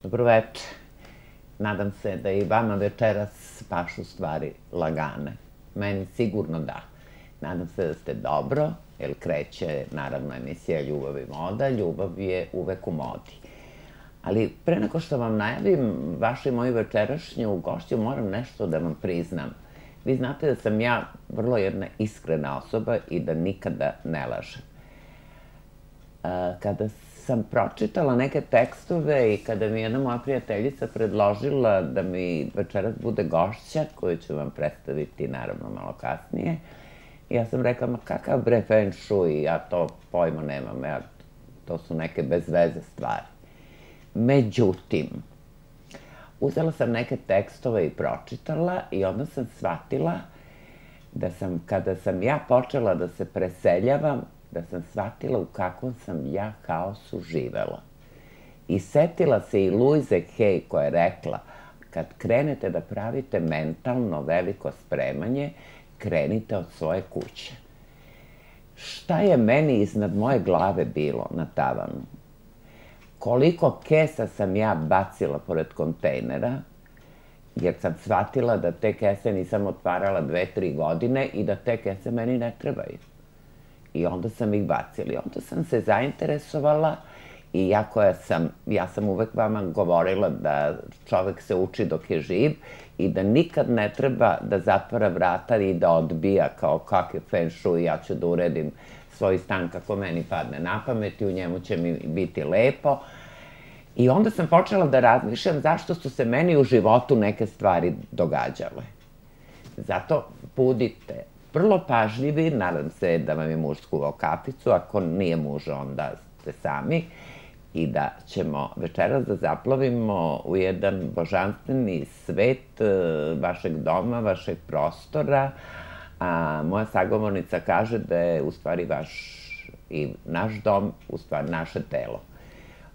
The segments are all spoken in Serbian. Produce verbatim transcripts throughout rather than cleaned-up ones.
Dobroveče. Nadam se da i vama večeras baš u stvari lagane. Meni sigurno da. Nadam se da ste dobro, jer kreće, naravno, emisija Ljubav i moda. Ljubav je uvek u modi. Ali pre nego što vam najavim vašu i moju večerašnju gošću, moram nešto da vam priznam. Vi znate da sam ja vrlo jedna iskrena osoba i da nikada ne lažem. Kada sam pročitala neke tekstove i kada mi jedna moja prijateljica predložila da mi večeras bude gošća, koju ću vam predstaviti naravno malo kasnije, ja sam rekla, ma kakav bre feng shui, ja to pojma nemam, ja, to su neke bez veze stvari. Međutim, uzela sam neke tekstove i pročitala i onda sam shvatila da sam, kada sam ja počela da se preseljavam, da sam shvatila u kakvom sam ja haosu živela. I setila se i Louise Hay koja je rekla, kad krenete da pravite mentalno veliko spremanje, krenite od svoje kuće. Šta je meni iznad moje glave bilo na tavanu? Koliko kesa sam ja bacila pored kontejnera, jer sam shvatila da te kese nisam otvarala dve, tri godine i da te kese meni ne trebaju. I onda sam ih bacila. Onda sam se zainteresovala i ja koja sam, ja sam uvek vama govorila da čovek se uči dok je živ i da nikad ne treba da zatvara vrata i da odbija kao kakav feng shui, ja ću da uredim svoj stan kako meni padne na pamet i u njemu će mi biti lepo. I onda sam počela da razmišljam zašto su se meni u životu neke stvari događale. Zato budite vrlo pažljivi, nadam se da vam je muž skuvao kaficu, ako nije muž onda ste sami, i da ćemo večeras da zaplovimo u jedan božanstveni svet vašeg doma, vašeg prostora, a moja sagovornica kaže da je u stvari vaš i naš dom, u stvari naše telo.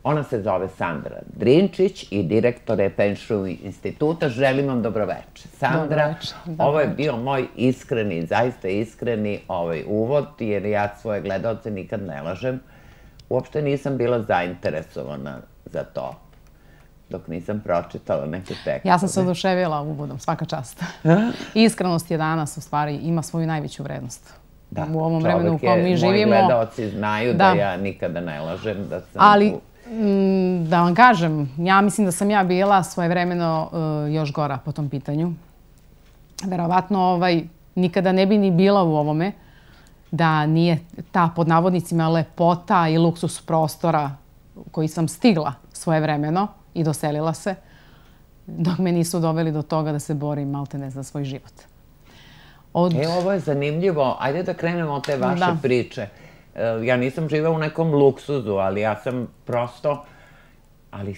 Ona se zove Sandra Drinčić i direktor je Feng Shui instituta. Želim vam dobroveče. Sandra, ovo je bio moj iskreni, zaista iskreni uvod, jer ja svoje gledaoce nikad ne lažem. Uopšte nisam bila zainteresovana za to, dok nisam pročitala neke tekstove. Ja sam se oduševila uvodom, svaka čast. Iskrenost je danas, u stvari, ima svoju najveću vrednost. U ovom vremenu u kojem mi živimo. Moji gledaoci znaju da ja nikada ne lažem, da sam... Ali, da vam kažem, ja mislim da sam ja bila svojevremeno još gora po tom pitanju. Verovatno nikada ne bi ni bila u ovome da nije ta, pod navodnicima, lepota i luksus prostora koji sam stigla svojevremeno i doselila se, dok me nisu doveli do toga da se borim maltene za svoj život. E, ovo je zanimljivo. Ajde da krenemo od te vaše priče. Ja nisam živela u nekom luksuzu, ali ja sam prosto, ali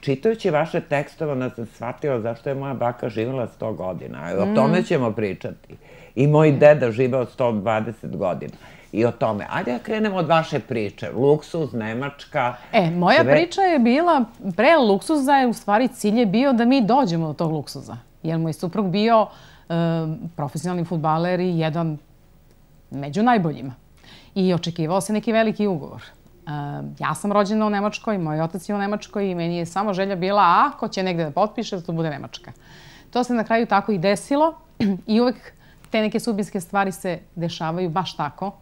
čitajući vaše tekstove, onda sam shvatila zašto je moja baka živela sto godina. O tome ćemo pričati. I moj deda živeo sto dvadeset godina. I o tome. Ajde da krenemo od vaše priče. Luksuz, Nemačka... E, moja priča je bila, pre luksuza je u stvari cilj je bio da mi dođemo do tog luksuza. Jer moj suprug bio profesionalni fudbaler i jedan među najboljima. I očekivao se neki veliki ugovor. Ja sam rođena u Nemačkoj, moj otac je u Nemačkoj i meni je samo želja bila ako će negde da potpiše da to bude Nemačka. To se na kraju tako i desilo i uvek te neke sudbinske stvari se dešavaju baš tako.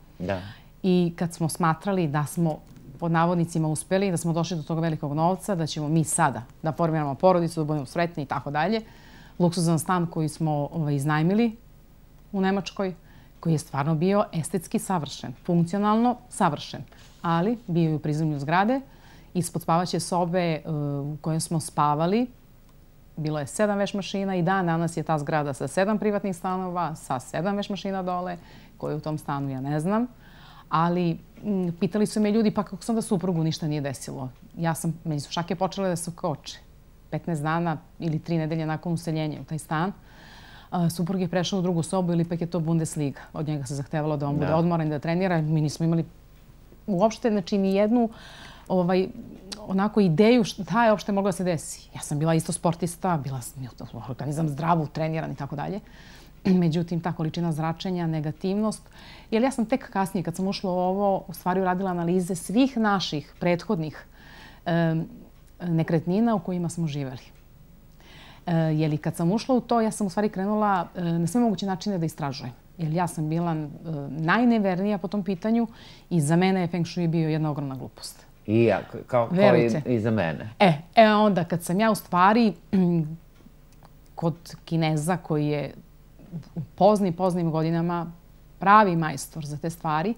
I kad smo smatrali da smo pod navodnicima uspeli, da smo došli do tog velikog novca, da ćemo mi sada da formiramo porodicu, da budemo sretni i tako dalje, luksuzan stan koji smo iznajmili u Nemačkoj, koji je stvarno bio estetski savršen, funkcionalno savršen, ali bio je u prizemlju zgrade. Ispod spavaće sobe u kojoj smo spavali bilo je sedam veš mašina i dan danas je ta zgrada sa sedam privatnih stanova, sa sedam veš mašina dole, koje u tom stanu ja ne znam. Ali pitali su me ljudi, pa kako sam da suprugu ništa nije desilo. Ja sam, meni su šake počele da se koče. petnaest dana ili tri nedelje nakon useljenja u taj stan. Suprug je prešao u drugu sobu ili ipak je to Bundesliga. Od njega se zahtevalo da on bude odmoran i da trenira. Mi nismo imali uopšte, znači, ni jednu onako ideju šta je uopšte moglo da se desi. Ja sam bila isto sportista, bila sam organizam zdravu, treniran i tako dalje. Međutim, ta količina zračenja, negativnost. Jer ja sam tek kasnije, kad sam ušla u ovo, u stvari uradila analize svih naših prethodnih nekretnina u kojima smo živeli. Jer i kad sam ušla u to, ja sam u stvari krenula na sve moguće načine da istražujem. Jer ja sam bila najnevernija po tom pitanju i za mene je Feng Shui bio jedna ogromna glupost. I ja, kao i za mene. E, e onda kad sam ja u stvari kod Kineza koji je u poznim, poznim godinama pravi majstor za te stvari,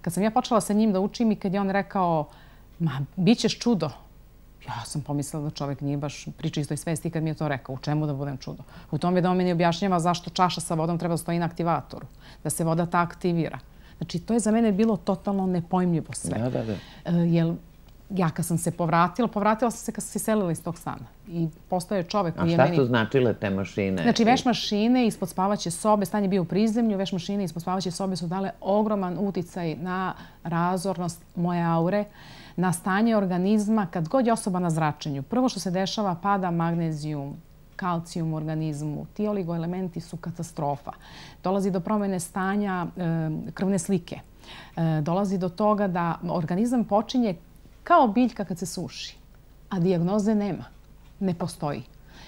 kad sam ja počela sa njim da učim i kad je on rekao, ma, bit ćeš čudo. Ja sam pomislila da čovjek nije baš pri čistoj svesti kad mi je to rekao. U čemu da budem čudo? U tom je da on meni objašnjava zašto čaša sa vodom treba da stoji na aktivatoru. Da se voda ta aktivira. Znači, to je za mene bilo totalno nepojmljivo sve. Da, da, da. Jer ja kad sam se povratila, povratila sam se kad sam se iselila iz tog stana. I postao je čovjek koji je meni... A šta su značile te mašine? Znači, veš mašine ispod spavaće sobe, stan je bio u prizemlju, veš mašine ispod spavaće sobe su dale ogroman uticaj na razornost moje aure, na stanje organizma kad god je osoba na zračenju. Prvo što se dešava, pada magnezijum, kalcijum u organizmu. Ti oligoelementi su katastrofa. Dolazi do promjene stanja krvne slike. Dolazi do toga da organizam počinje kao biljka kad se suši, a dijagnoze nema. Ne postoji.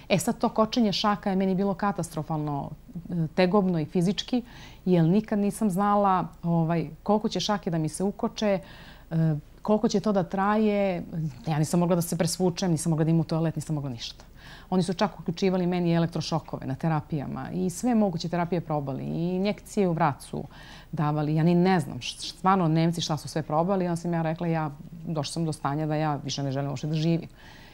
E sad to kočenje šaka je meni bilo katastrofalno tegobno i fizički, jer nikad nisam znala koliko će šake da mi se ukoče, koliko će to da traje. Ja nisam mogla da se presvučem, nisam mogla da imam u toalet, nisam mogla ništa. Oni su čak uključivali meni elektrošokove na terapijama i sve moguće terapije probali i injekcije u vrat su davali. Ja ni ne znam, stvarno Nemci šta su sve probali. Onda sam ja rekla, ja došla sam do stanja da ja više ne želim uopšte da živim.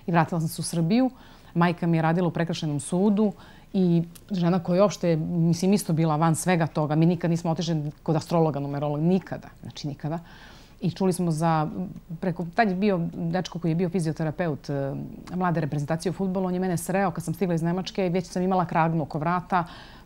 I vratila sam se u Srbiju. Majka mi je radila u prekršajnom sudu i žena koja je uopšte, mislim, isto bila van svega toga. Mi nikad nismo otišli kod astrologa, numerologa, nikada. Znači nikada. I čuli smo za, preko, tad je bio dečko koji je bio fizioterapeut mlade reprezentacije u fudbalu, on je mene sreo kad sam stigla iz Nemačke i već sam imala kragnu oko vrata,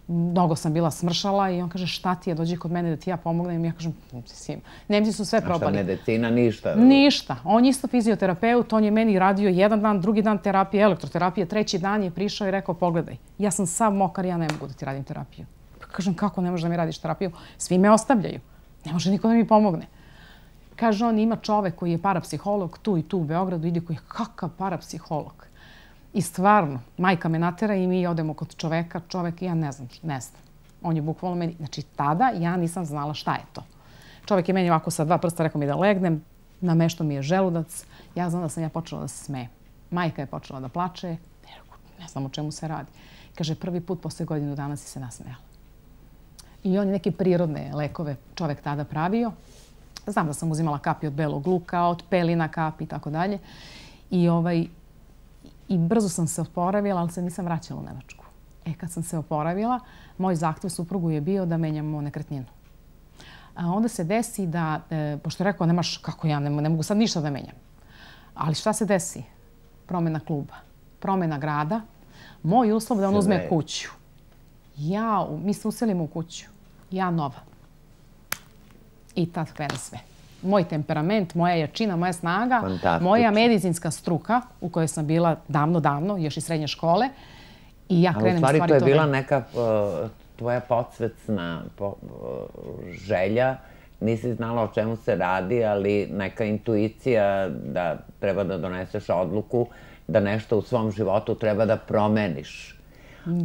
mnogo sam bila smršala i on kaže šta ti je, dođi kod mene da ti ja pomognem. I ja kažem, mislim, Nemci su sve probali. A šta medicina, ništa? Ništa. On je isto fizioterapeut, on je meni radio jedan dan, drugi dan terapije, elektroterapije, treći dan je prišao i rekao, pogledaj, ja sam sav mokar, ja ne mogu da ti radim terapiju. Kažem, kako ne možeš da mi radiš terapiju? Svi me ostavljaju. Ne može niko da mi pomogne. Kaže, on ima čovek koji je parapsiholog tu i tu u Beogradu, ide koji je kakav parapsiholog. I stvarno, majka me natera i mi odemo kod čoveka, čovek, ja ne znam, ne znam. On je bukvalno meni, znači tada ja nisam znala šta je to. Čovek je meni ovako sa dva prsta rekao mi da legnem, namešto mi je želudac, ja znam da sam ja počela da se smejem. Majka je počela da plače, ne znam o čemu se radi. Kaže, prvi put posle godinu dana si se nasmejala. I on je neke prirodne lekove čovek tada pravio. Znam da sam uzimala kapi od belog luka, od pelina kapi i tako dalje. I, ovaj, I brzo sam se oporavila, ali se nisam vraćala u Nemačku. E, kad sam se oporavila, moj zahtev suprugu je bio da menjamo nekretninu. A onda se desi da, e, pošto je rekao, nemaš, kako ja, ne, ne mogu sad ništa da menjam. Ali šta se desi? Promjena kluba, promjena grada. Moj uslov da on uzme kuću. Ja, mi se uselimo u kuću. Ja nova. I tad krene sve. Moj temperament, moja jačina, moja snaga, moja medicinska struka u kojoj sam bila davno, davno, još i srednje škole. I ja krenem stvari to. U stvari to je bila neka tvoja podsvesna želja. Nisi znala o čemu se radi, ali neka intuicija da treba da doneseš odluku, da nešto u svom životu treba da promeniš.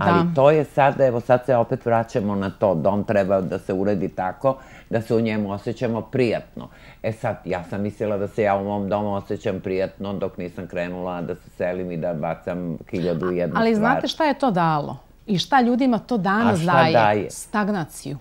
Ali to je sad, evo sad se opet vraćamo na to, dom treba da se uredi tako da se u njemu osjećamo prijatno. E sad, ja sam mislila da se ja u mom domu osjećam prijatno dok nisam krenula da se selim i da bacam hiljadu i jednu stvar. Ali znate šta je to dalo? I šta ljudima to danas daje? Stagnaciju.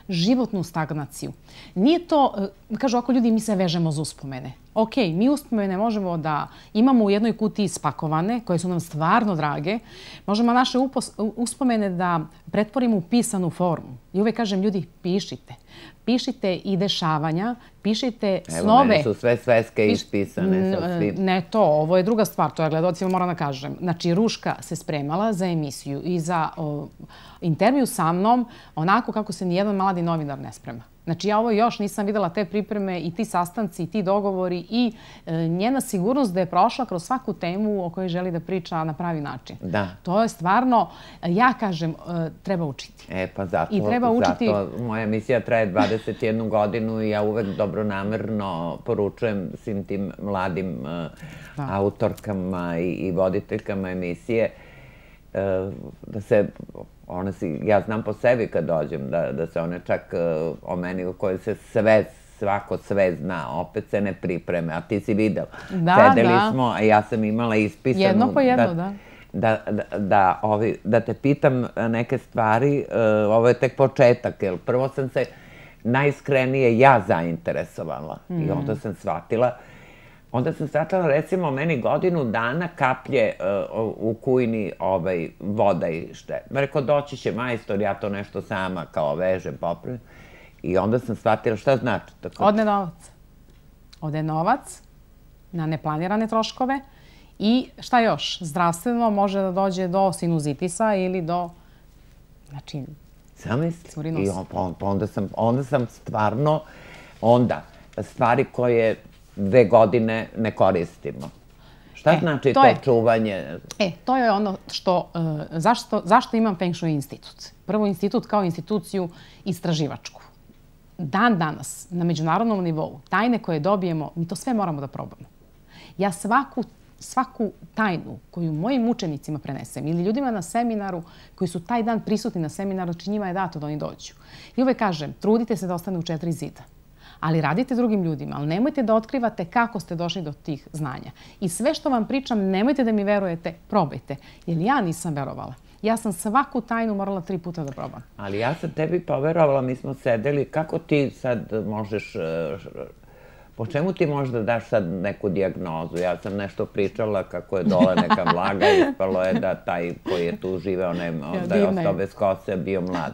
Životnu stagnaciju. Nije to, kažu ako ljudi, mi se vežemo za uspomene. Ok, mi uspomene možemo da imamo u jednoj kutiji spakovane, koje su nam stvarno drage. Možemo naše uspomene da pretvorimo u pisanu formu. I uvek kažem, ljudi, pišite. Pišite i dešavanja, pišite snove. Evo, mene su sve sveske ispisane. Ne to, ovo je druga stvar, to ja gledalcima moram da kažem. Znači, Ruška se spremala za emisiju i za intervju sa mnom onako kako se nijedan mladi novinar ne sprema. Znači, ja ovo još nisam videla, te pripreme i ti sastanci i ti dogovori i njena sigurnost da je prošla kroz svaku temu o kojoj želi da priča na pravi način. Da. To je stvarno, ja kažem, treba učiti. E, pa zato, I treba učiti... zato moja emisija traje dvadeset jednu godinu i ja uvek dobronamerno poručujem svim tim mladim autorkama i voditeljkama emisije da se, one si, ja znam po sebi kad dođem, da se one čak o meni u kojoj se sve, svako sve zna, opet se ne pripreme, a ti si videla. Sedeli smo, a ja sam imala ispisanu... Jedno po jedno, da. Da te pitam neke stvari, ovo je tek početak, jer prvo sam se najiskrenije ja zainteresovala i onda sam shvatila Onda sam shvatila, recimo, meni godinu dana kaplje u kujni voda i šte. Rekao, doći će majstor, ja to nešto sama kao vežem, popravim. I onda sam shvatila šta znači. Ode novac. Ode novac na neplanirane troškove i šta još? Zdravstveno može da dođe do sinuzitisa ili do, znači, zamisli. I onda sam stvarno, onda, stvari koje dve godine ne koristimo. Šta znači to čuvanje? E, to je ono što, zašto imam Feng Shui institut? Prvo, institut kao instituciju istraživačku. Dan danas, na međunarodnom nivou, tajne koje dobijemo, mi to sve moramo da probamo. Ja svaku svaku tajnu koju mojim učenicima prenesem ili ljudima na seminaru koji su taj dan prisutni na seminaru, či njima je dato da oni dođu. I uvek kažem, trudite se da ostane u četiri zida. Ali radite drugim ljudima, ali nemojte da otkrivate kako ste došli do tih znanja. I sve što vam pričam, nemojte da mi verujete, probajte. Jer ja nisam verovala. Ja sam svaku tajnu morala tri puta da probam. Ali ja sam tebi poverovala, mi smo sedeli, kako ti sad možeš, po čemu ti možeš da daš sad neku dijagnozu? Ja sam nešto pričala kako je dole neka vlaga i ispalo je da taj koji je tu živeo, da je ostao bez kose, bio mlad.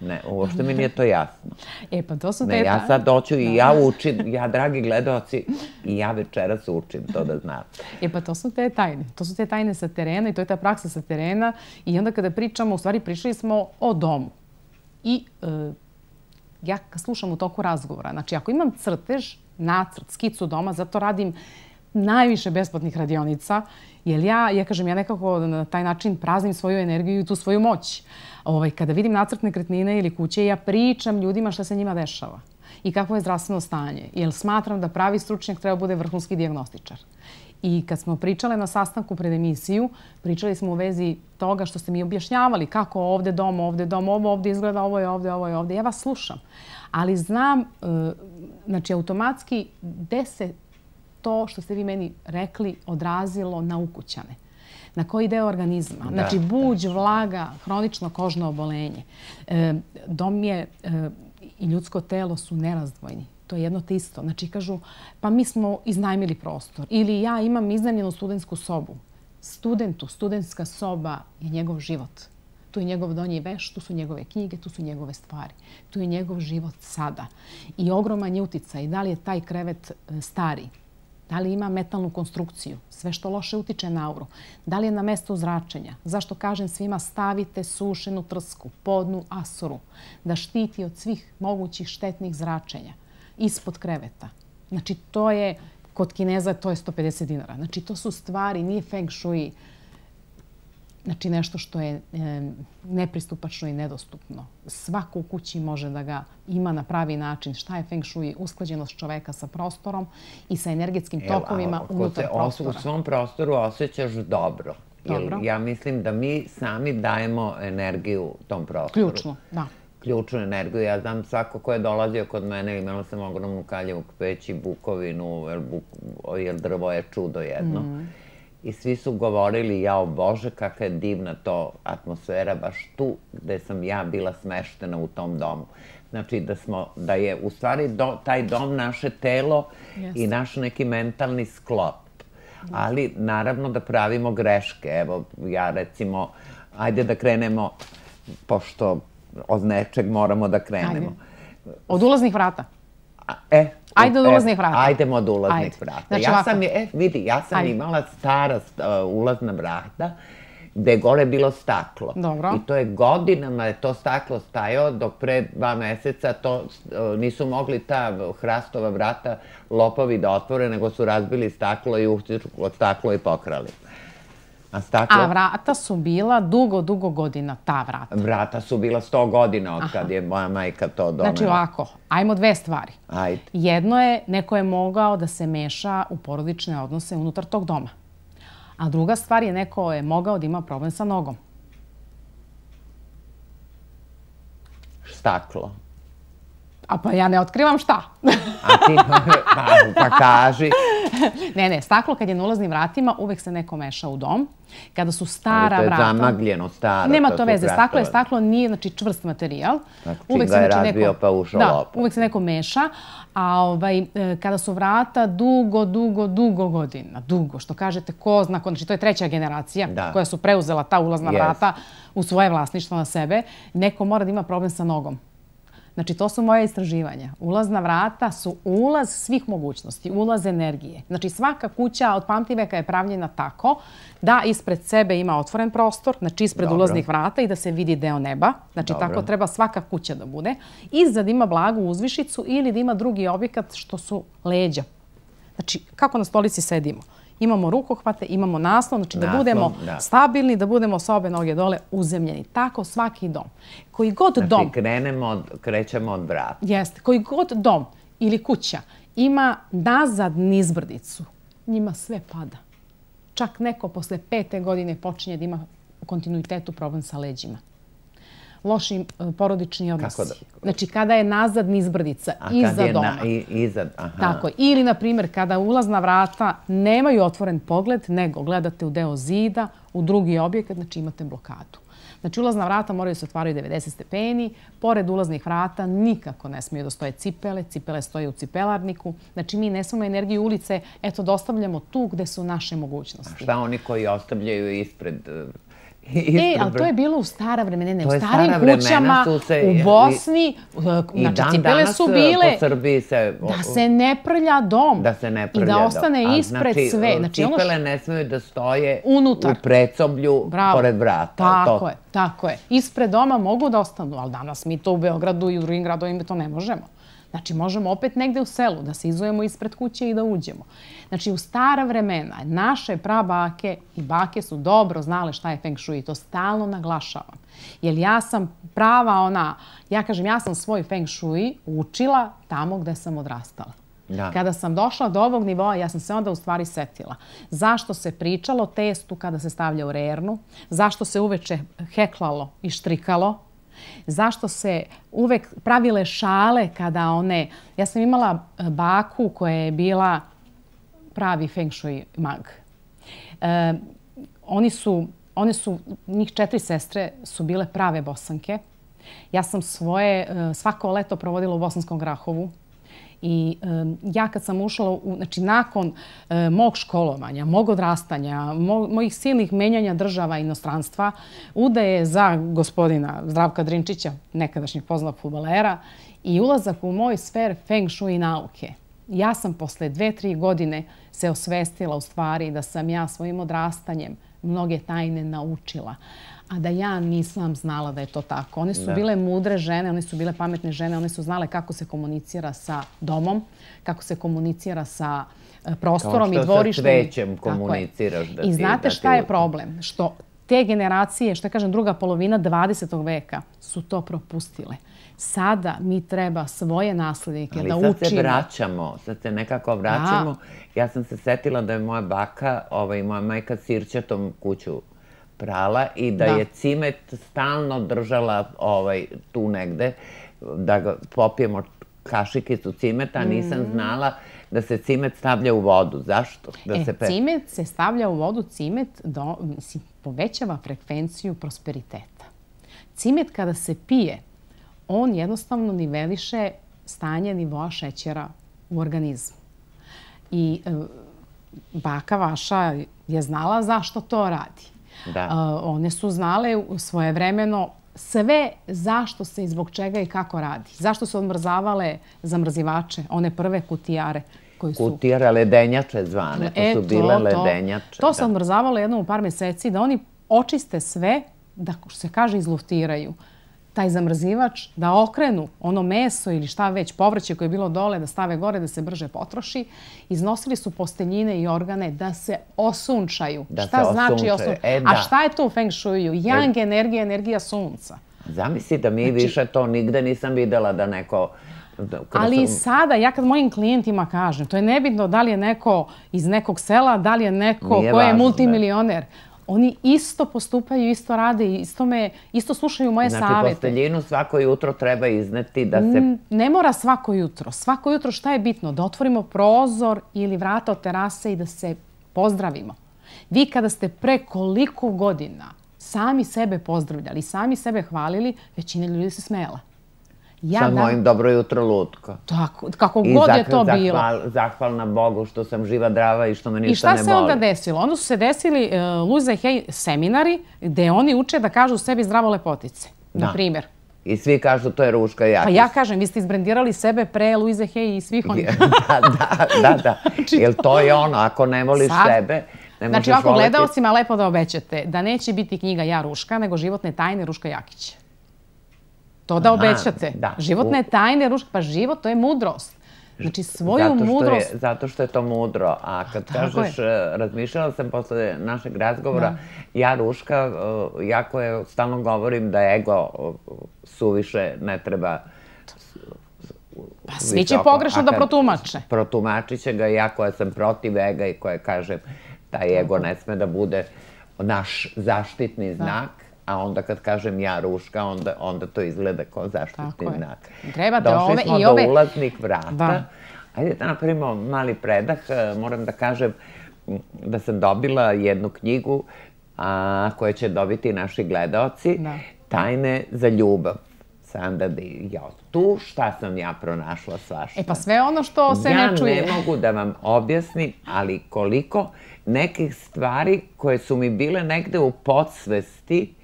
Ne, uopšte mi nije to jasno. E, pa to su te... Ne, ja sad doću i ja učim, ja, dragi gledaoci, i ja večeras učim, to da znam. E, pa to su te tajne. To su te tajne sa terena i to je ta praksa sa terena. I onda kada pričamo, u stvari pričali smo o domu. I ja kad slušam u toku razgovora, znači ako imam crtež, nacrt, skicu doma, zato radim najviše besplatnih radionica, jer ja, ja kažem, ja nekako na taj način praznim svoju energiju i tu svoju moć. Kada vidim nacrt nekretnine ili kuće, ja pričam ljudima šta se njima dešava i kakvo je zdravstveno stanje, jer smatram da pravi stručnjak treba bude vrhunski dijagnostičar. I kad smo pričale na sastanku pred emisiju, pričali smo u vezi toga što ste mi objašnjavali kako ovde dom, ovde dom, ovo ovde izgleda, ovo je ovde, ovo je ovde. Ja vas slušam, ali znam, znači, automatski gde se to što ste vi meni rekli odrazilo na ukućane. Na koji deo organizma. Znači, buđ, vlaga, hronično kožno obolenje. Dom je i ljudsko telo su nerazdvojni. To je jedno te isto. Znači, kažu, pa mi smo iznajmili prostor. Ili ja imam iznajmljenu studentsku sobu. Studentu, studentska soba je njegov život. Tu je njegov donji veš, tu su njegove knjige, tu su njegove stvari. Tu je njegov život sada. I ogroman je uticaj. Da li je taj krevet stari? Da li ima metalnu konstrukciju? Sve što loše utiče na auru. Da li je na mesto zračenja? Zašto kažem svima stavite sušenu trsku, podnu asuru, da štiti od svih mogućih štetnih zračenja ispod kreveta. Znači, to je, kod Kineza to je sto pedeset dinara. Znači, to su stvari, nije Feng Shui, znači nešto što je nepristupačno i nedostupno. Svako u kući može da ga ima na pravi način. Šta je Feng Shui? Usklađenost čoveka sa prostorom i sa energetskim tokovima unutar prostora. U svom prostoru osjećaš dobro. Ja mislim da mi sami dajemo energiju tom prostoru. Ključno, da. Ključnu energiju. Ja znam svako ko je dolazio kod mene, imala sam ogromnu kaljevu peć i bukovinu, jer drvo je čudo jedno. I svi su govorili, jao Bože, kakva je divna to atmosfera, baš tu gde sam ja bila smeštena u tom domu. Znači da je u stvari taj dom naše telo i naš neki mentalni sklop. Ali naravno da pravimo greške. Evo, ja recimo, ajde da krenemo, pošto od nečeg moramo da krenemo. Od ulaznih vrata. E, Ajde od ulaznih vrata. Ajdemo od ulaznih vrata. Ja sam, vidi, ja sam imala stara ulazna vrata gde je gore bilo staklo. Dobro. I to je godinama je to staklo stajao, dok pre dva meseca to nisu mogli ta hrastova vrata lopovi da otvore, nego su razbili staklo i uhtičko staklo i pokrali. A staklo? A vrata su bila dugo, dugo godina, ta vrata. Vrata su bila sto godina od kad je moja majka to donela. Znači ovako, ajmo dve stvari. Ajde. Jedno je, neko je mogao da se meša u porodične odnose unutar tog doma. A druga stvar je, neko je mogao da ima problem sa nogom. Staklo. A pa ja ne otkrivam šta. A ti, pa, pa kaži. Ne, ne, staklo kad je na ulaznim vratima, uvek se neko meša u dom. Kada su stara vrata... Ali to je zamagljeno, staro. Nema to veze, staklo je staklo, nije znači čvrst materijal. Znači, čim ga je razbio pa ušao lop. Da, uvek se neko meša. A kada su vrata dugo, dugo, dugo godina, dugo, što kažete, ko zna, znači to je treća generacija koja su preuzela ta ulazna vrata u svoje vlasništvo na sebe, neko mora da ima problem sa nogom. Znači, to su moje istraživanja. Ulazna vrata su ulaz svih mogućnosti, ulaz energije. Znači, svaka kuća od pamtiveka je pravljena tako da ispred sebe ima otvoren prostor, znači ispred ulaznih vrata i da se vidi deo neba. Znači, tako treba svaka kuća da bude. Iza ima blagu uzvišicu ili da ima drugi objekat što su leđa. Znači, kako na stolici sedimo. Imamo rukohvate, imamo naslon, znači da budemo stabilni, da budemo sa obe noge dole uzemljeni. Tako svaki dom. Koji god dom... Znači krenemo, krećemo od vrata. Jeste. Koji god dom ili kuća ima nazad nizbrdicu, njima sve pada. Čak neko posle pete godine počinje da ima u kontinuitetu problem sa leđima. Loši porodični odnosi. Znači, kada je nazad nizbrdica, iza doma. Tako. Ili, na primjer, kada ulazna vrata nemaju otvoren pogled, nego gledate u deo zida, u drugi objekat, znači imate blokadu. Znači, ulazna vrata moraju se otvaraju devedeset stepeni, pored ulaznih vrata nikako ne smiju da stoje cipele, cipele stoje u cipelarniku. Znači, mi ne smemo energiju ulice, eto, dostavljamo tu gde su naše mogućnosti. Šta oni koji ostavljaju ispred... E, ali to je bilo u stara vremena, ne, u starim kućama, u Bosni, znači cipele su bile da se ne prlja dom i da ostane ispred sve. Znači, cipele ne smiju da stoje u predsoblju pored vrata. Tako je, tako je. Ispred doma mogu da ostanu, ali danas mi to u Beogradu i u drugim gradovima to ne možemo. Znači, možemo opet negde u selu da se izujemo ispred kuće i da uđemo. Znači, u stara vremena naše prabake i bake su dobro znale šta je feng shui i to stalno naglašavam. Jer ja sam prava ona, ja kažem, ja sam svoj feng shui učila tamo gde sam odrastala. Kada sam došla do ovog nivoa, ja sam se onda u stvari setila. Zašto se pričalo testu kada se stavlja u rernu? Zašto se uveče heklalo i štrikalo? Zašto se uvek pravile šale kada one... Ja sam imala baku koja je bila pravi feng shui mag. Oni su, one su, njih četiri sestre su bile prave Bosanke. Ja sam svoje, svako leto provodila u Bosanskom Grahovu. I ja kad sam ušla, znači nakon mog školovanja, mog odrastanja, mojih silnih menjanja država i inostranstva, udaje za gospodina Zdravka Drinčića, nekadašnjeg poznatog fudbalera, i ulazak u moj sfer feng shui nauke. Ja sam posle dve, tri godine se osvestila u stvari da sam ja svojim odrastanjem mnoge tajne naučila. A da ja nisam znala da je to tako. One su bile mudre žene, one su bile pametne žene, one su znale kako se komunicira sa domom, kako se komunicira sa prostorom i dvorištem. Kao što sa cvećem komuniciraš. I znate šta je problem? Što te generacije, što kažem, druga polovina dvadesetog veka su to propustile. Sada mi treba svoje naslednike da učimo. Ali sad se vraćamo, sad se nekako vraćamo. Ja sam se setila da je moja baka i moja majka sirćatom kuću prala i da je cimet stalno držala tu negde, da ga popijemo kašikicu cimeta, nisam znala da se cimet stavlja u vodu. Zašto? E, cimet se stavlja u vodu, cimet povećava frekvenciju prosperiteta. Cimet kada se pije, on jednostavno niveliše stanje nivoa šećera u organizmu. I baka vaša je znala zašto to radi. One su znale svojevremeno sve zašto se i zbog čega i kako radi. Zašto su odmrzavale zamrzivače, one prve kutijare koji su... Kutijare, ledenjače zvane, to su bile ledenjače. To se odmrzavalo jednom u par meseci da oni očiste sve, da što se kaže izluftiraju taj zamrzivač, da okrenu ono meso ili šta već, povrće koje je bilo dole, da stave gore, da se brže potroši. Iznosili su posteljine i organe da se osunčaju. Šta znači osunčaju? A šta je to u Feng Shuiju? Yang energija, energija sunca. Zamisli da mi više to nigde nisam videla da neko... Ali i sada, ja kad mojim klijentima kažem, to je nebitno da li je neko iz nekog sela, da li je neko ko je multimilioner. Oni isto postupaju, isto rade, isto me, isto slušaju moje savete. Znači, posteljinu svako jutro treba izneti da se... Ne mora svako jutro. Svako jutro šta je bitno? Da otvorimo prozor ili vrata od terase i da se pozdravimo. Vi kada ste pre koliko godina sami sebe pozdravljali, sami sebe hvalili, većina ljudi se smela. Sa mojim dobro jutro lutko. Tako, kako god je to bilo. I zahvalna Bogu što sam živa, zdrava i što me ništa ne boli. I šta se onda desilo? Onda su se desili Louise Hay seminari gde oni uče da kažu sebi zdravo lepotice, na primjer. I svi kažu to je Ruška Jakić. Pa ja kažem, vi ste izbrendirali sebe pre Louise Hay i svih onih. Da, da, da, da. Jer to je ono, ako ne voliš sebe, ne možeš voliti... Znači, ovako gledaocima lepo da obećate da neće biti knjiga Ja Ruška, nego Životne tajne Ruška Jakić. To da obećate. Životne tajne, pa život, to je mudrost. Znači, svoju mudrost... Zato što je to mudro. A kad kažeš, razmišljala sam posle našeg razgovora, ja Ruška, jako je, stalno govorim da ego suviše ne treba... Pa svi će pogrešno da protumače. Protumačit će ga, ja koja sam protiv ega i koja kažem taj ego ne sme da bude naš zaštitni znak. A onda kad kažem ja Ruška, onda to izgleda kao zaštitni znak. Došli smo do ulaznih vrata. Ajde da napravimo mali predah. Moram da kažem da sam dobila jednu knjigu koju će dobiti naši gledaoci. Tajne za ljubav. Sanda Di. Tu šta sam ja pronašla svašta? E pa sve ono što se ne čuje. Ja ne mogu da vam objasnim, ali koliko nekih stvari koje su mi bile negde u podsvesti,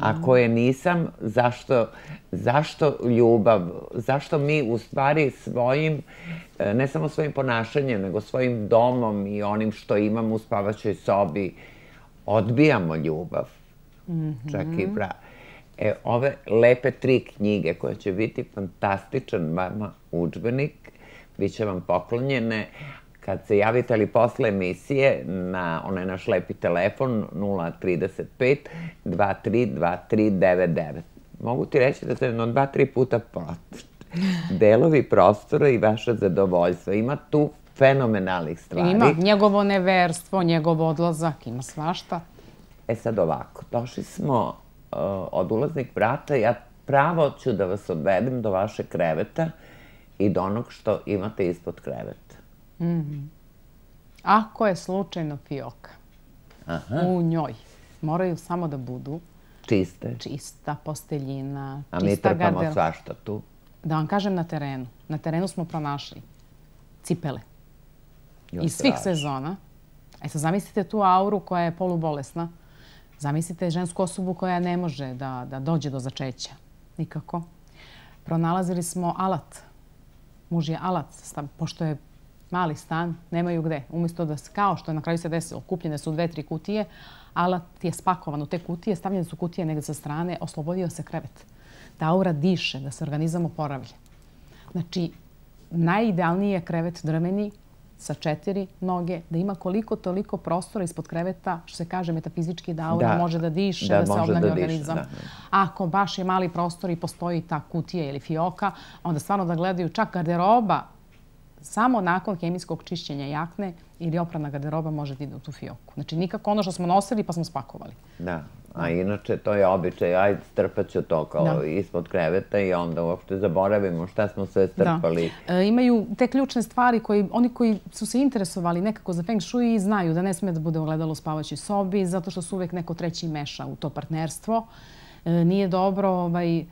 a koje nisam, zašto ljubav, zašto mi u stvari svojim, ne samo svojim ponašanjem, nego svojim domom i onim što imam u spavaćoj sobi, odbijamo ljubav. Čak i bra. Ove lepe tri knjige koje će biti fantastičan vama udžbenik, bit će vam poklonjene. Kad se javite ali posle emisije na onaj naš lepi telefon nula trideset pet dva tri dva tri devet devet. Mogu ti reći da se na dva, tri puta delovi prostora i vaše zadovoljstvo. Ima tu fenomenalnih stvari. Ima njegovo neverstvo, njegov odlazak, ima svašta. E sad ovako, došli smo od ulaznih vrata. Ja pravo ću da vas odvedem do vaše kreveta i do onog što imate ispod kreveta. Ako je slučajno fioka u njoj, moraju samo da budu čiste, čista posteljina, a mi trpamo svašta tu. Da vam kažem, na terenu. Na terenu smo pronašli cipele iz svih sezona. E sad zamislite tu auru koja je polubolesna. Zamislite žensku osobu koja ne može da dođe do začeća. Nikako. Pronalazili smo alat. Muž je alat, pošto je mali stan, nemaju gde. Umjesto da, kao što je na kraju se desilo, kupljene su dve, tri kutije, alat je spakovan u te kutije, stavljene su kutije negde sa strane, oslobodio se krevet. Da aura diše, da se organizam oporavlja. Znači, najidealniji je krevet drveni, sa četiri noge, da ima koliko toliko prostora ispod kreveta, što se kaže metafizički, da aura može da diše, da se obnavlja organizam. Ako baš je mali prostor i postoji ta kutija ili fioka, onda stvarno da gledaju čak garderoba, samo nakon hemijskog čišćenja jakne ili oprana garderoba može da ide u tu fioku. Znači, nikako ono što smo nosili pa smo spakovali. Da, a inače to je običaj, ajde strpat ću to kao ispod kreveta i onda uopšte zaboravimo šta smo sve strpali. Imaju te ključne stvari koji, oni koji su se interesovali nekako za Feng Shui znaju da ne sme da bude ogledalo u spavaćoj sobi zato što se uvek neko treći meša u to partnerstvo. Nije dobro, ovaj,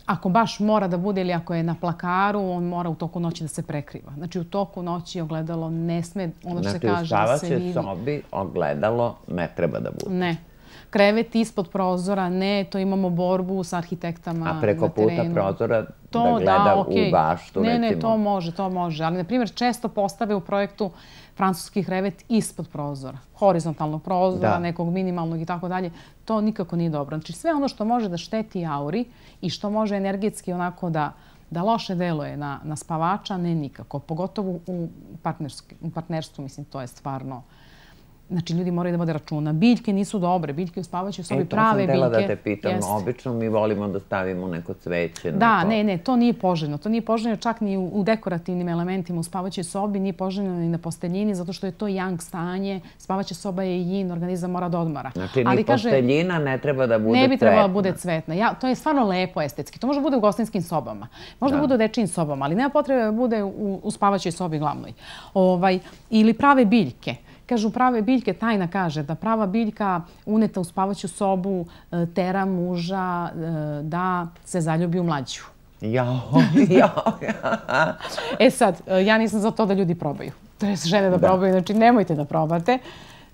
ako baš mora da bude ili ako je na plakaru, on mora u toku noći da se prekriva. Znači, u toku noći ogledalo ne sme, ono što se kaže, da se vidi. Znači, u spavaćoj sobi ogledalo ne treba da bude. Ne. krevet ispod prozora, ne, to imamo borbu sa arhitektama na terenu. A preko puta prozora da gleda u baštu, recimo? Ne, ne, to može, to može. Ali, na primjer, često postave u projektu francuski krevet ispod prozora, horizontalnog prozora, nekog minimalnog i tako dalje. To nikako nije dobro. Znači, sve ono što može da šteti auri i što može energetski onako da da loše deluje na, na spavača, ne nikako. Pogotovo u, u partnerstvu, mislim, to je stvarno... Znači, ljudi moraju da vode računa. Biljke nisu dobre, biljke u spavaćoj sobi, prave biljke. E, to sam htjela da te pitam. Jest. Obično mi volimo da stavimo neko cveće. Da, neko... ne, ne, to nije poželjno. To nije poželjno čak ni u, u dekorativnim elementima u spavaćoj sobi, nije poželjno ni na posteljini, zato što je to yang stanje. Spavaća soba je yin, organizam mora da odmara. Znači, ni posteljina ne treba da bude cvetna. Ne bi trebala da bude cvetna. Ja, to je stvarno lepo estetski. To može da bude u gostinskim sobama. Može da bude u dečijim sobama, ali nema potrebe da bude u, u spavaćoj sobi glavnoj. Ovaj, ili prave biljke. Kažu, prave biljke, tajna kaže da prava biljka uneta u spavaću sobu tera muža da se zaljubi u mlađu. Jao, jao. E sad, ja nisam za to da ljudi probaju. To je žene da probaju, znači nemojte da probate.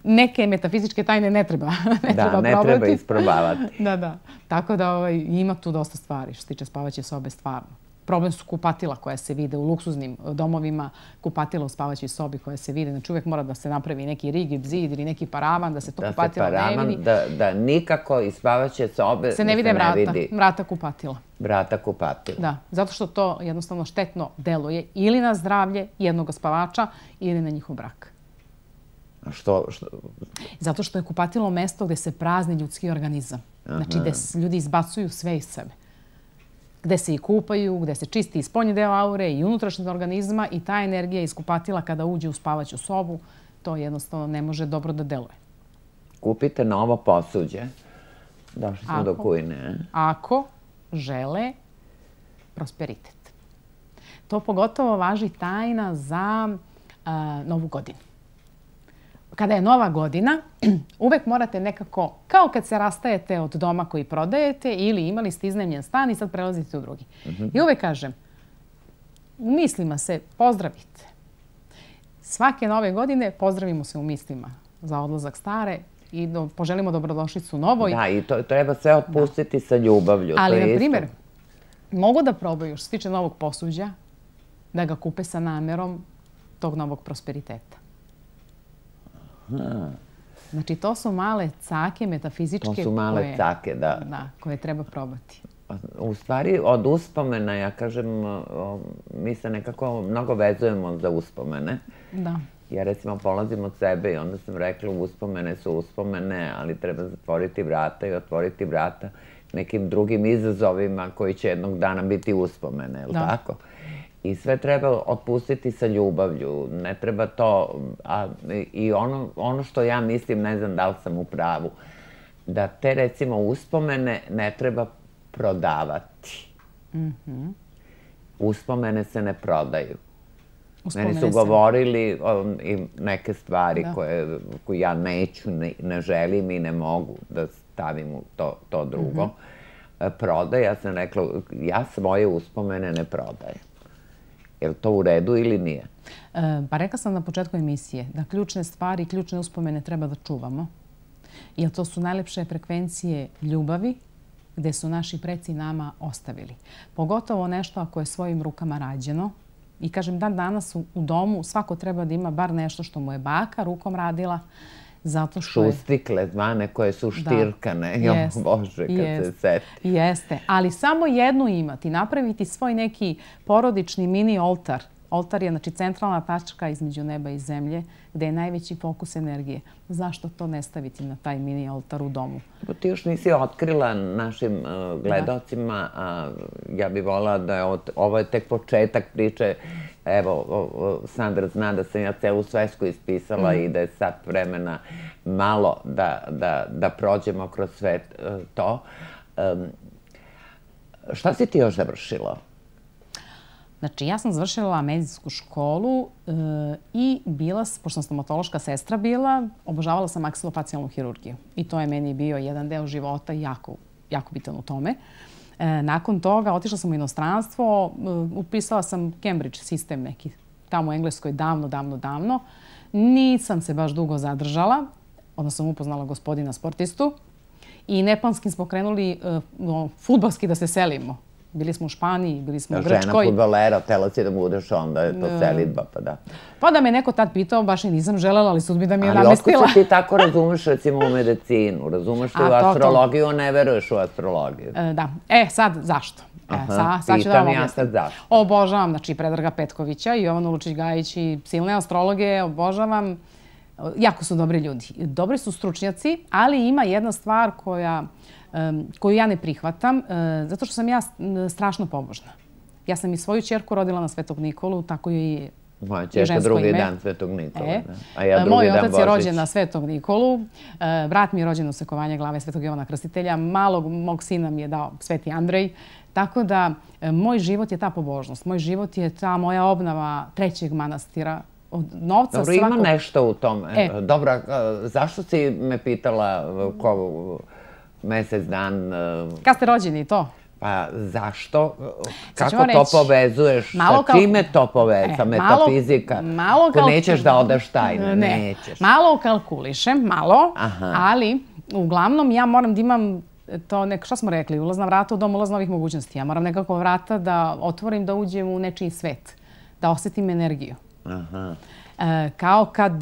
Neke metafizičke tajne ne treba probati. Da, ne treba isprobavati. Da, da. Tako da ima tu dosta stvari što se tiče spavaće sobe stvarno. Problem su kupatila koja se vide u luksuznim domovima, kupatila u spavaćoj sobi koja se vide. Znači uvijek mora da se napravi neki rigid zid ili neki paravan da se to kupatila ne vidi. Da nikako iz spavaće sobe se ne vide vrata, vrata kupatila. Vrata kupatila. Da, zato što to jednostavno štetno deluje ili na zdravlje jednog spavača ili na njihov brak. A što? Zato što je kupatilo mesto gde se prazni ljudski organizam. Znači gde ljudi izbacuju sve iz sebe. Gde se i kupaju, gde se čisti i spoljni deo aure i unutrašnjeg organizma i ta energija iz kupatila kada uđe u spavaću sobu, to jednostavno ne može dobro da deluje. Kupite novo posuđe. Došli smo do kujne. Ako žele prosperitet. To pogotovo važi tajna za Novu godinu. Kada je Nova godina, uvek morate nekako, kao kad se rastajete od doma koji prodajete ili imali ste iznajmljen stan i sad prelazite u drugi. I uvek kažem, u mislima se pozdravite. Svake Nove godine pozdravimo se u mislima za odlazak stare i poželimo dobrodošlicu novoj. Da, i to treba sve otpustiti sa ljubavlju. Ali, na primjer, mogu da probaju što se tiče novog posuđa, da ga kupe sa namerom tog novog prosperiteta. Znači, to su male cake metafizičke. To su male cake, da. Da, koje treba probati. U stvari, od uspomena, ja kažem, mi se nekako mnogo vezujemo za uspomene. Da. Ja recimo polazim od sebe i onda sam rekla uspomene su uspomene, ali treba zatvoriti vrata i otvoriti vrata nekim drugim izazovima koji će jednog dana biti uspomene, je li tako? I sve treba otpustiti sa ljubavlju. Ne treba to... I ono što ja mislim, ne znam da li sam u pravu, da te recimo uspomene ne treba prodavati. Uspomene se ne prodaju. Meni su govorili neke stvari koje ja neću, ne želim i ne mogu da stavim u to drugo. Prodaj, ja sam rekla, ja svoje uspomene ne prodajem. Je li to u redu ili nije? Pa rekla sam na početku emisije da ključne stvari i ključne uspomene treba da čuvamo. Jer to su najlepše frekvencije ljubavi gde su naši preci nama ostavili. Pogotovo nešto ako je svojim rukama rađeno. I kažem, dan danas u domu svako treba da ima bar nešto što mu je baka rukom radila. Šustikle zvane koje su štirkane. Jo, Bože, kad se seti. Jeste, ali samo jednu imati. Napraviti svoj neki porodični mini oltar. Oltar je znači centralna tačka između neba i zemlje gde je najveći fokus energije. Zašto to ne staviti na taj mini oltar u domu? Ti još nisi otkrila našim gledocima. Ja bih volila da je ovo tek početak priče. Evo, Sandra zna da sam ja celu svesku ispisala i da je sad vremena malo da prođemo kroz sve to. Šta si ti još završila? Znači, ja sam završila medicinsku školu i bila, pošto sam stomatološka sestra bila, obožavala sam maksilofacijalnu hirurgiju. I to je meni bio jedan deo života jako, jako bitan u tome. Nakon toga otišla sam u inostranstvo, upisala sam Cambridge sistem neki tamo u Engleskoj davno, davno, davno. Nisam se baš dugo zadržala, odnosno sam upoznala gospodina sportistu i neplanskim smo krenuli fudbalski da se selimo. Bili smo u Španiji, bili smo u Grčkoj. Žena fudbalera, htjela si da budeš, onda je to selidba, pa da. Pa da me neko tad pitao, baš i nisam želela, ali sudbina mi je namestila. Ali otkud se ti tako razumeš, recimo, u medicinu? Razumeš li u astrologiju, a ne veruješ u astrologiju? Da. E, sad, zašto? Pitam ja sad zašto. Obožavam, znači, Predraga Petkovića i Jovanu Lučić-Gajić i silne astrologe, obožavam. Jako su dobri ljudi. Dobri su stručnjaci, ali ima jedna stvar koja... koju ja ne prihvatam, zato što sam ja strašno pobožna. Ja sam i svoju ćerku rodila na Svetog Nikolu, tako i moja ćerka drugi dan Svetog Nikola, a ja drugi dan Božić. Moj otac je rođen na Svetog Nikolu, brat mi je rođen u sekovanje glave Svetog Jovana Krstitelja, malog mog sina mi je dao Sveti Andrej, tako da moj život je ta pobožnost, moj život je ta moja obnova trećeg manastira, od novca svakog... Dobro, ima nešto u tome. Dobro, zašto si me pitala ko... mesec dan... Kad ste rođeni, to? Pa zašto? Kako to povezuješ? Sa čime to povezuje? Sa metafizika? Ko nećeš da odeš tajne? Nećeš. Malo kalkulišem, malo, ali uglavnom ja moram da imam to, što smo rekli, ulazna vrata u dom, ulaz novih mogućnosti. Ja moram nekako vrata da otvorim, da uđem u nečiji svet, da osjetim energiju. Kao kad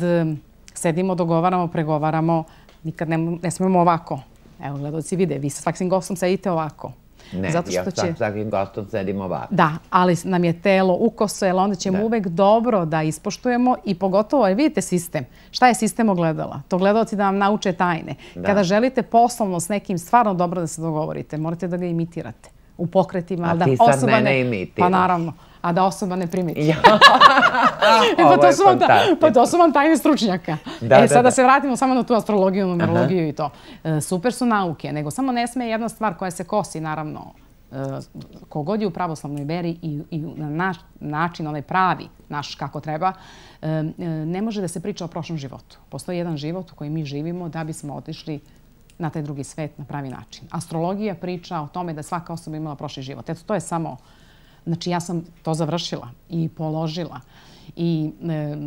sedimo, dogovaramo, pregovaramo, nikad ne smemo ovako. Evo, gledalci vide, vi sa svakim gostom sedite ovako. Ne, ja sa svakim gostom sedim ovako. Da, ali nam je telo ukoso, jer onda ćemo uvek dobro da ispoštujemo i pogotovo, vidite sistem. Šta je sistem ogledala? To gledalci da vam nauče tajne. Kada želite poslovno s nekim stvarno dobro da se dogovorite, morate da ga imitirate u pokretima. A ti sad mene imitiraš. Pa naravno. A da osoba ne primeti. Pa to su vam tajne stručnjaka. E, sada se vratimo samo na tu astrologiju, numerologiju i to. Super su nauke, nego samo ne sme jedna stvar koja se kosi, naravno, kogod je u pravoslavnoj veri i na naš način, onaj pravi, naš kako treba, ne može da se priča o prošlom životu. Postoji jedan život u kojem mi živimo da bismo otišli na taj drugi svet na pravi način. Astrologija priča o tome da svaka osoba imala prošli život. Eto, to je samo... Znači, ja sam to završila i položila. I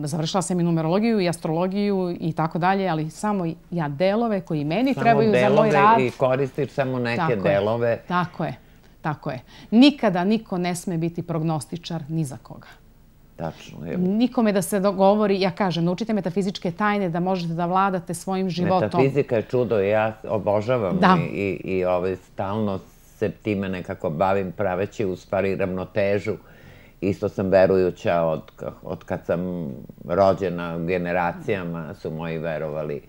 završila sam i numerologiju i astrologiju i tako dalje, ali samo ja delove koji meni trebaju za moj rad... Samo delove i koristiš samo neke delove. Tako je, tako je. Nikada niko ne sme biti prognostičar ni za koga. Tačno. Nikome da se dogovori, ja kažem, naučite metafizičke tajne da možete da vladate svojim životom. Metafizika je čudo, ja obožavam i stalno se time nekako bavim praveći u stvari ravnotežu. Isto sam verujuća od kad sam rođena, generacijama su moji verovali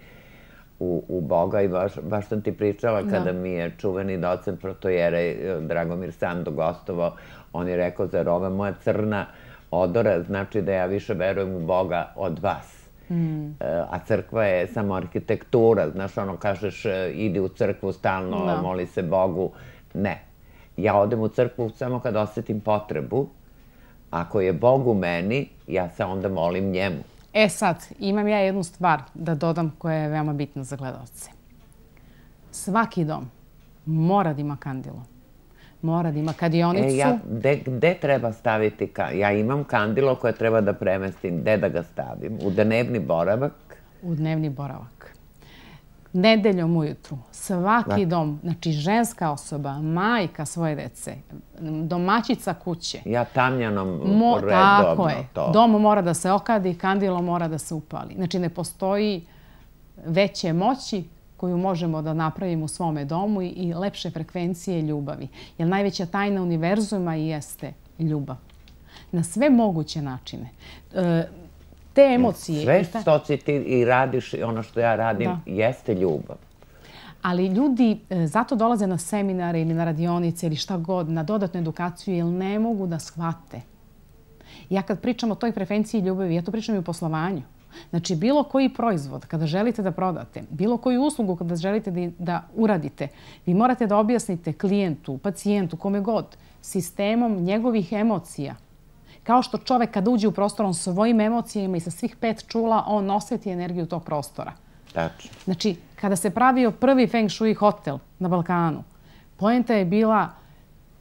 u Boga i baš sam ti pričala kada mi je čuveni docent protojere Dragomir Sando gostovao, on je rekao, zar ova moja crna odora znači da ja više verujem u Boga od vas. A crkva je samo arhitektura, znaš, ono kažeš idi u crkvu stalno, moli se Bogu. Ne. Ja odem u crkvu samo kad osjetim potrebu. Ako je Bog u meni, ja se onda molim njemu. E sad, imam ja jednu stvar da dodam koja je veoma bitna za gledalce. Svaki dom mora da ima kandilo. Mora da ima kadionicu. Gde treba staviti kandilo? Ja imam kandilo koje treba da premestim. Gde da ga stavim? U dnevni boravak? U dnevni boravak. Nedeljom ujutru. Svaki dom, znači ženska osoba, majka svoje dece, domaćica kuće. Ja tamljanom redovno to. Tako je. Dom mora da se okadi, kandilo mora da se upali. Znači ne postoji veće moći koju možemo da napravimo u svome domu i lepše frekvencije ljubavi. Jer najveća tajna univerzuma jeste ljubav. Na sve moguće načine. Te emocije... Sve što si ti i radiš, ono što ja radim, jeste ljubav. Ali ljudi zato dolaze na seminare ili na radionice ili šta god, na dodatnu edukaciju, jer ne mogu da shvate. Ja kad pričam o toj frekvenciji ljubavi, ja to pričam i u poslovanju. Znači, bilo koji proizvod kada želite da prodate, bilo koju uslugu kada želite da uradite, vi morate da objasnite klijentu, pacijentu, kome god, sistemom njegovih emocija. Kao što čovek kada uđe u prostor, on svojim emocijama i sa svih pet čula, on osjeti energiju tog prostora. Tačno. Znači, kada se pravio prvi Feng Shui hotel na Balkanu, poenta je bila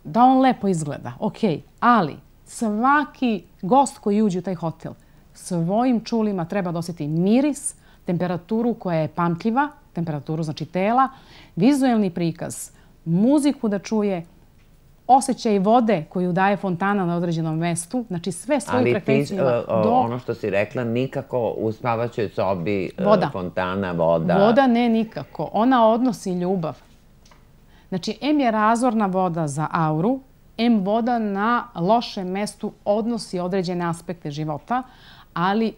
da on lepo izgleda, okej, ali svaki gost koji uđe u taj hotel svojim čulima treba da osjeti miris, temperaturu koja je pamtljiva, temperaturu, znači tela, vizuelni prikaz, muziku da čuje, osjećaj vode koju daje fontana na određenom mestu, znači sve svoju frekvenciju ima. Ali ti, ono što si rekla, nikako u spavaćoj sobi fontana, voda. Voda ne nikako. Ona odnosi ljubav. Znači, em je razorna voda za auru, em voda na lošem mestu odnosi određene aspekte života, ali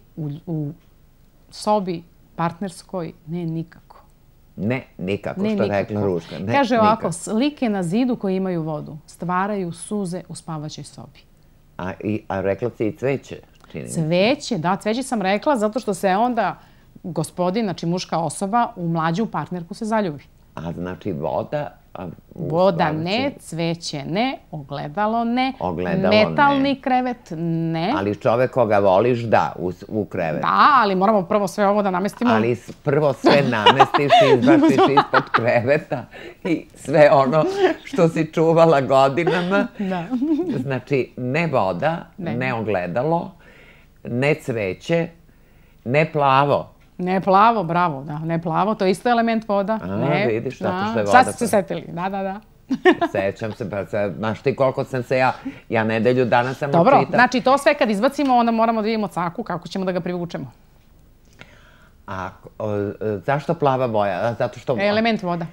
u sobi partnerskoj ne nikako. Ne, nikako, što je rekla Ruška. Kaže ovako, slike na zidu koji imaju vodu stvaraju suze u spavaćoj sobi. A rekla si i cveće? Cveće, da, cveće sam rekla zato što se onda gospodin, znači muška osoba, u mlađu partnerku se zaljubi. A znači voda... Voda ne, cveće ne, ogledalo ne, metalni krevet ne. Ali čovek koga voliš, da, u krevet. Da, ali moramo prvo sve ovo da namestimo. Ali prvo sve namestiš i izbaciš ispod kreveta i sve ono što si čuvala godinama. Znači, ne voda, ne ogledalo, ne cveće, ne plavo. Ne plavo, bravo, da, ne plavo, to je isto element voda. A, vidiš, zato što je voda. Sad ste se setili, da, da, da. Sećam se, pa znaš ti koliko sam se ja, ja nedelju dana sam učitala. Dobro, znači to sve kad izbacimo, onda moramo da vidimo caku, kako ćemo da ga privučemo. A zašto plava boja? Zato što... Element voda.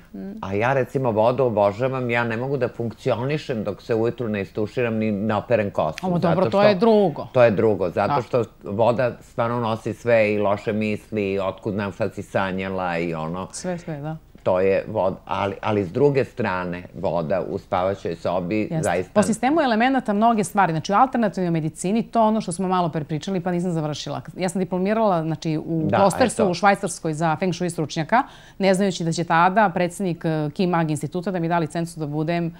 A ja recimo vodu obožavam, ja ne mogu da funkcionišem dok se ujutru ne istuširam ni ne operem kosu. Ovo dobro, to je drugo. To je drugo, zato što voda stvarno nosi sve i loše misli, otkud znam šta si sanjala i ono... Sve, sve, da. To je voda, ali s druge strane voda u spavaćoj sobi zaista... Po sistemu elemenata mnoge stvari, znači u alternativnoj medicini, to ono što smo malo prepričali pa nisam završila. Ja sam diplomirala u Klostersu u Švajcarskoj za Feng Shui stručnjaka, ne znajući da će tada predsjednik Ki Mag instituta da mi da licencu da budem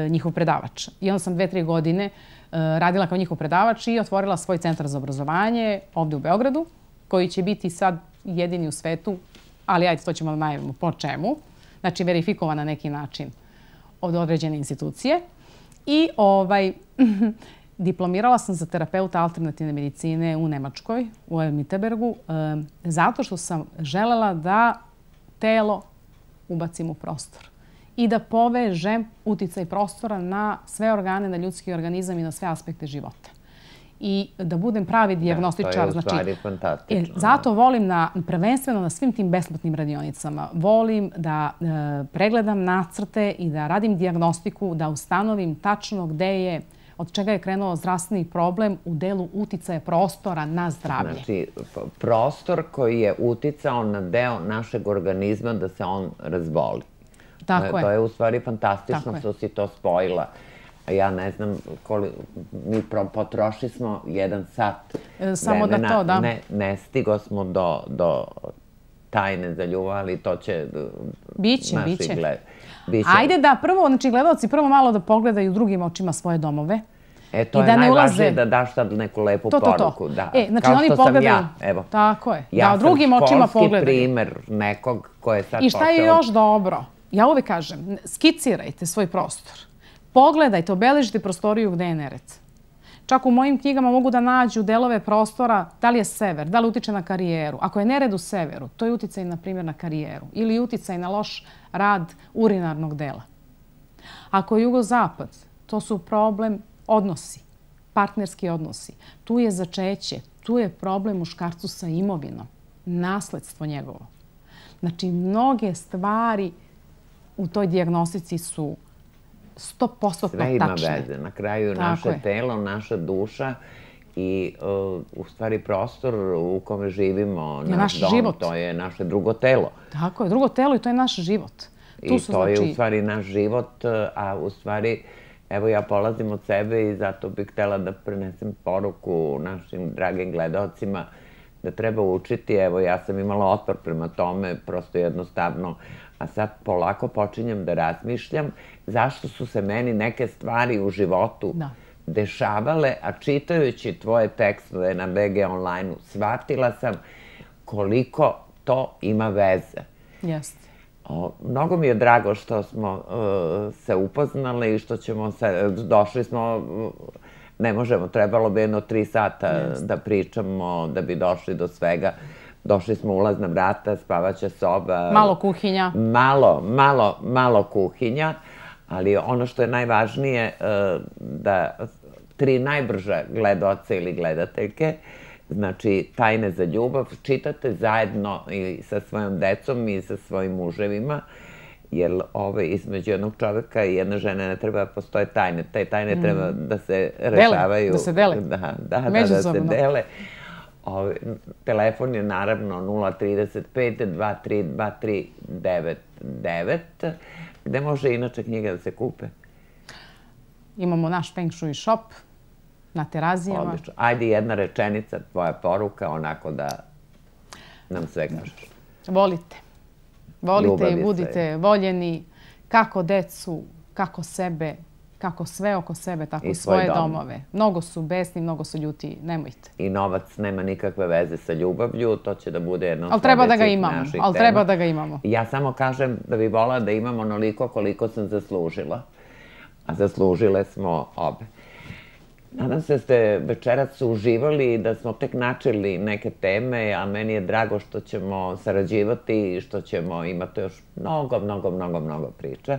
njihov predavač. I onda sam dve, tri godine radila kao njihov predavač i otvorila svoj centar za obrazovanje ovdje u Beogradu, koji će biti sad jedini u svetu, ali ajde, to ćemo da najavimo po čemu. Znači, verifikovan na neki način od određene institucije. I diplomirala sam za terapeuta alternativne medicine u Nemačkoj, u Mitterbergu, zato što sam želela da telo ubacim u prostor i da povežem uticaj prostora na sve organe, na ljudski organizam i na sve aspekte života. I da budem pravi dijagnostičar. To je u stvari fantastično. Zato volim prvenstveno na svim tim besplatnim radionicama. Volim da pregledam nacrte i da radim dijagnostiku, da ustanovim tačno gde je, od čega je krenuo zdravstveni problem u delu uticaja prostora na zdravlje. Znači, prostor koji je uticao na deo našeg organizma da se on razboli. Tako je. To je u stvari fantastično što si to spojila. Ja ne znam, mi potrošili smo jedan sat samo da to, da. Ne stigo smo do tajne za ljubav, ali to će biće, biće. Ajde da prvo, znači gledalci prvo malo da pogledaju drugim očima svoje domove. E, to je najvažnije da daš sad neku lepu poruku. Kao što sam ja, evo. Tako je, da drugim očima pogledaju. Ja sam školski primer nekog ko je sad počeo... I šta je još dobro? Ja uvek kažem, skicirajte svoj prostor. Pogledajte, obeležite prostoriju gde je nered. Čak u mojim knjigama mogu da nađu delove prostora, da li je sever, da li utiče na karijeru. Ako je nered u severu, to je uticaj, na primjer, na karijeru. Ili uticaj na loš rad urinarnog dela. Ako je jugozapad, to su problem odnosi, partnerski odnosi. Tu je začeće, tu je problem muškarcu sa imovinom, nasledstvo njegovo. Znači, mnoge stvari u toj dijagnostici su sto posto tačne. Sve ima veze. Na kraju naše telo, naša duša i u stvari prostor u kome živimo, naš dom, to je naše drugo telo. Tako je, drugo telo i to je naš život. I to je u stvari naš život, a u stvari, evo ja polazim od sebe i zato bih htjela da prenesem poruku našim dragim gledalcima da treba učiti. Evo ja sam imala otpor prema tome, prosto jednostavno, a sad polako počinjem da razmišljam zašto su se meni neke stvari u životu dešavale, a čitajući tvoje tekstove na B G online-u shvatila sam koliko to ima veze. Jeste. Mnogo mi je drago što smo se upoznali i što ćemo se, došli smo, ne možemo, trebalo bi jedno tri sata da pričamo, da bi došli do svega. došli smo ulazna vrata, spavaća soba. Malo kuhinja. Malo, malo, malo kuhinja, ali ono što je najvažnije da tri najbrža gledaoca ili gledateljke, znači Tajne za ljubav, čitate zajedno i sa svojom decom i sa svojim muževima, jer između jednog čoveka i jedne žene ne treba da postoje tajne. Te tajne treba da se rešavaju. Da se dele. Da, da, da se dele. Telefon je naravno nula trideset pet dva tri dva tri devet devet. Gde može inače knjige da se kupe? Imamo naš Feng Shui shop na Terazijama. Odlično. Ajde jedna rečenica, tvoja poruka, onako da nam sve kažeš. Volite. Volite i budite voljeni kako decu, kako sebe, kako sve oko sebe, tako i svoje domove. Mnogo su besni, mnogo su ljuti, nemojte. I novac nema nikakve veze sa ljubavlju, to će da bude jedno od sledećih naših tema. Ali treba da ga imamo. Ja samo kažem da bi volila da imam onoliko koliko sam zaslužila. A zaslužile smo obe. Nadam se da ste večeras uživali i da smo tek načeli neke teme, a meni je drago što ćemo sarađivati i što ćemo imati još mnogo, mnogo, mnogo, mnogo priča.